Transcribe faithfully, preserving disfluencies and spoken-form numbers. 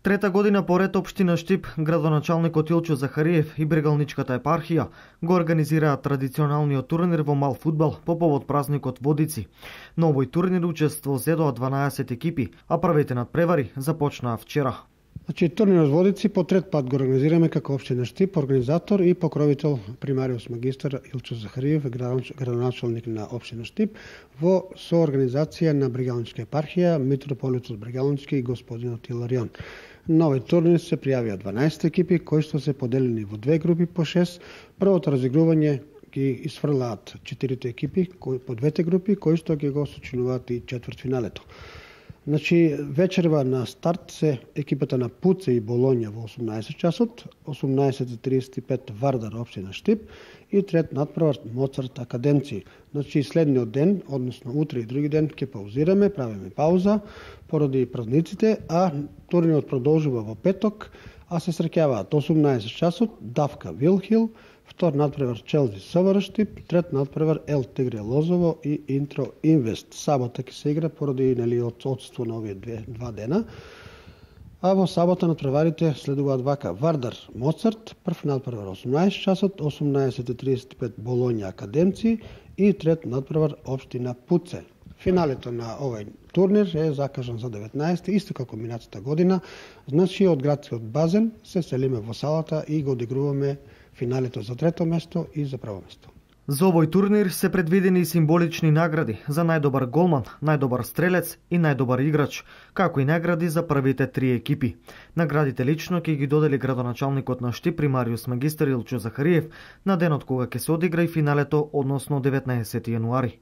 Трета година поред општина Штип, градоначалникот Илчо Захариев и Брегалничката епархија го организираат традиционалниот турнир во мал фудбал по повод празникот Водици. На овој турнир учество зедоа дванаесет екипи, а првите надпревари започнаа вчера. Значи, турнирот Водици по трет пат го организираме како општина Штип, организатор и покровител примариус магистар Илчо Захариев, градоначалник на општина Штип, во соорганизација на Брегалничка епархија, митрополитот Брегалнички и господинот Иларион. На овој турнир се пријавија дванаесет екипи, кои што се поделени во две групи по шест. Првото разигрување ги исфрлаат четирите екипи по двете групи, кои што ќе го сочинуваат и четвртфиналето. Значи, вечерва на старт се екипата на Пуце и Болонја во осумнаесет часот, осумнаесет и тридесет и пет Вардар општина Штип и трет надпревар Моцарт Академци. Значи, следниот ден, односно утре и други ден, ќе паузираме, правиме пауза поради празниците, а турнирот продолжува во петок, а се среќаваат осумнаесет часот Давка Вилхил, втор надпревар Челзи СВР Штип, трет надпревар Ел Тигре Лозово и Интро Инвест. Сабота ќе се игра поради нели отсутство на овие две, два дена. А во сабота надпреварите следуваат вака: Вардар Моцарт, прв надпревар осумнаесет часот, осумнаесет и тридесет и пет Болонја Академци и трет надпревар општина Пуце. Финалето на овој турнир е закажан за деветнаесети, исто како минатата година. Значи, од градскиот базен се селиме во салата и го одигруваме финалето за трето место и за прво место. За овој турнир се предвидени символични награди за најдобар голман, најдобар стрелец и најдобар играч, како и награди за првите три екипи. Наградите лично ќе ги додели градоначалникот на Штип примариус магистар Илчо Захариев на денот кога ќе се одигра и финалето, односно деветнаесети јануари.